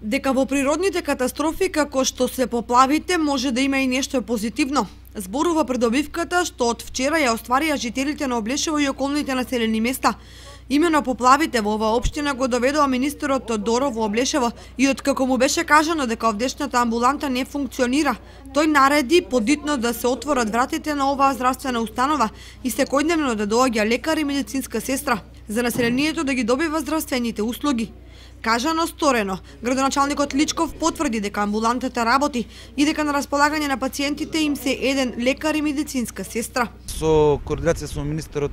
Дека во природните катастрофи како што се поплавите може да има и нешто позитивно. Зборува придобивката што од вчера ја остварија жителите на Облешево и околните населени места. Имено поплавите во оваа општина го доведува министерот Тодоров во Облешево и откако му беше кажано дека овдешната амбуланта не функционира, тој нареди подитно да се отворат вратите на оваа здравствена установа и секојдневно да доаѓа лекар и медицинска сестра за населението да ги добива здравствените услуги. Кажано сторено, градоначалникот Личков потврди дека амбулантата работи и дека на располагање на пациентите им се еден лекар и медицинска сестра. Со координација со министерот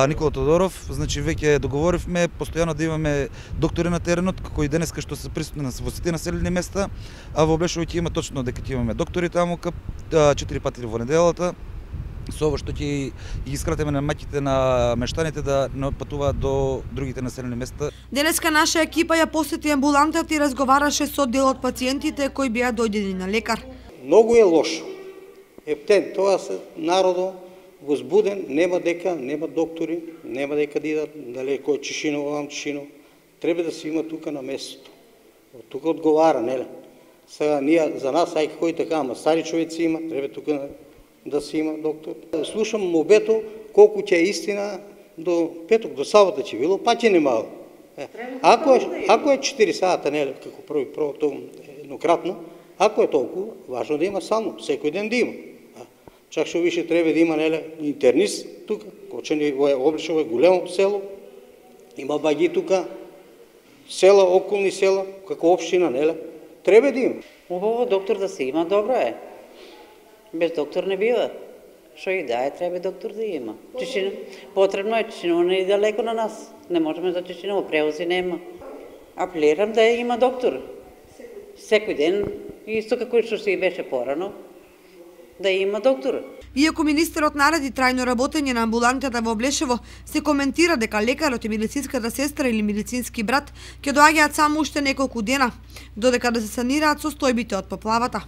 Никола Тодоров, значи веќе договоривме постојано да имаме доктори на теренот, како и денеска што се присутни во сите населени места, а во Облешево ќе има точно дека ќе имаме доктори таму 4 пати во неделата. Со ово што ќе ги скратиме на маќите на мештаните да не отпатуваат до другите населени места. Денеска наша екипа ја посети амбулантата и разговараше со дел од пациентите кои беа дојдени на лекар. Многу е лошо. Ептен, тоа се народо возбуден, нема доктори, нема дека да идат, дали кој Чишино, овам Чишино. Треба да се има тука на местото. Тука одговара, неле? Сега ние за нас, ај кој така, ама стари човеци има, треба тука да се има доктор. Слушам мобето колку ќе е истина до петок, до сабота ќе било, па ќе немало. Ако е 4 сата, неле, како првото еднократно, ако е толку, важно да има само, секој ден да има. Чак што више треба да има, неле, интернист тука, Кочани, Облешево е големо село, има баги тука, села, околни села, како општина, неле, треба да има. Убаво доктор да се има, добро е. Без доктор не бива. Што и да е, треба доктор да има. Чишина, потребно е, Чишина не е далеко на нас. Не можеме за Чишина, превози нема. Апелирам да има доктор. Секој ден, исто како што се и беше порано, да има доктор. Иако министерот нареди трајно работење на амбулантата во Облешево, се коментира дека лекарот и медицинската сестра или медицински брат ќе доаѓаат само уште неколку дена, додека да се санираат состојбите од поплавата.